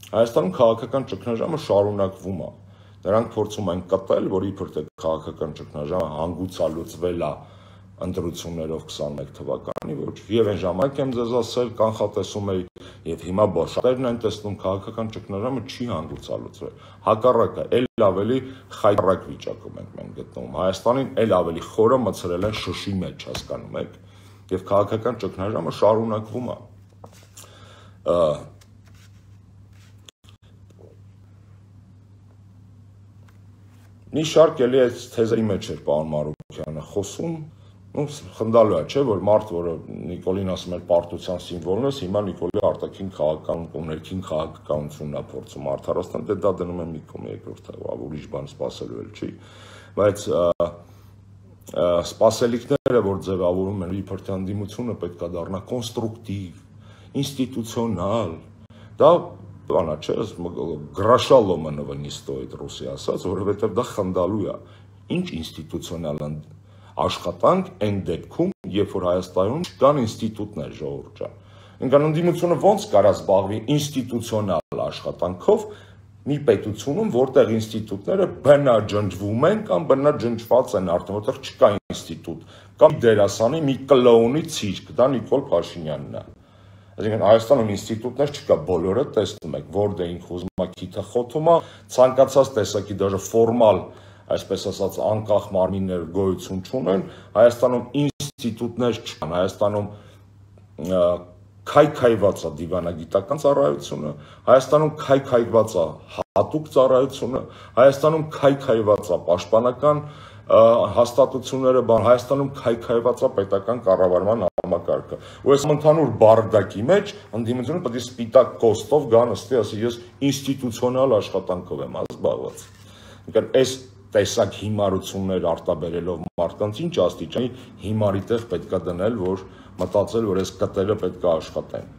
Հայաստանում քաղաքական ճգնաժամը շարունակվում է։ Նրանք փորձում են կտել, որ իբր թե քաղաքական ճգնաժամը հանգուցալուծվել է ընտրություններով 21 թվականի, ոչ, եւ այն ժամանակ եմ ձեզ ասել, կանխատեսում էի, եւ հիմա բոլորն են տեսնում քաղաքական ճգնաժամը չի հանգուցալուծվել։ Հակառակը, ել ավելի խայտառակ վիճակում ենք մենք գտնվում։ Հայաստանին ել ավելի խորը մցրել են շշի մեջ, հասկանում եք, եւ քաղաքական ճգնաժամը շարունակվում է։ Մի շարք էլի այդ թեզերի մեջ էր պարոն Մարուկյանը խոսում, խնդալու է, չէ, որ մարդ, որը Նիկոլին ասում էր պարտության սիմվոլն է, հիմա Նիկոլի արտաքին քաղաքական ու ներքին քաղաքականությունն է փորձում արդարացնել, դե դա դնում է մի կողմ երկրորդ, ուրիշ բան սպասելու էլ չի, բայց սպասելիքները, որ ձևավորում են իբր թե ընդդիմությունը պետք է դառնա կոնստրուկտիվ, ինստիտուցիոնալ, դա բանա չէ, գրաշալոմը նվնի ստոյդ ռուսի ասած, որովհետև դա խնդալու է, ինչ ինստիտուցիոնալ աշխատանք այն դեպքում, երբ որ Հայաստանում չկան ինստիտուտներ ժողովուրդ ջան։ Ինքան ընդդիմությունը ոնց կարա զբաղվի ինստիտուցիոնալ աշխատանքով մի պետությունում, որտեղ ինստիտուտները բնաջնջվում են կամ բնաջնջված են արդեն, որտեղ չկա ինստիտուտ, կամ դերասանի մի կլոունի ցիրկ, դա Նիկոլ Փաշինյանն է։ Այսինքն Հայաստանում ինստիտուտներ չկա, բոլորը տեսնում եք, որտեղ ուզում է քիթը խոթում է, ցանկացած տեսակի դաժե ֆորմալ, այսպես ասած, անկախ մարմիններ գոյություն չունեն, Հայաստանում ինստիտուտներ չկան, Հայաստանում քայքայված է դիվանագիտական ծառայությունը, Հայաստանում քայքայված է հատուկ ծառայությունը, Հայաստանում քայքայված է պաշտպանական հաստատությունները, Հայաստանում քայքայված է պետական կառավարման համակարգը։ Ու այս ընդհանուր բարդակի մեջ ընդդիմությունը պետք է սպիտակ կոստով գա նստի, ասի ես ինստիտուցիոնալ աշխատանքով եմ զբաղված։ Ինքն այս տեսակ հիմարություններ արտաբերելով մարդկանց ինչ աստիճանի հիմարի տեղ պետք է դնել, որ մտածել, որ այս կտերը պետք է աշխատեն։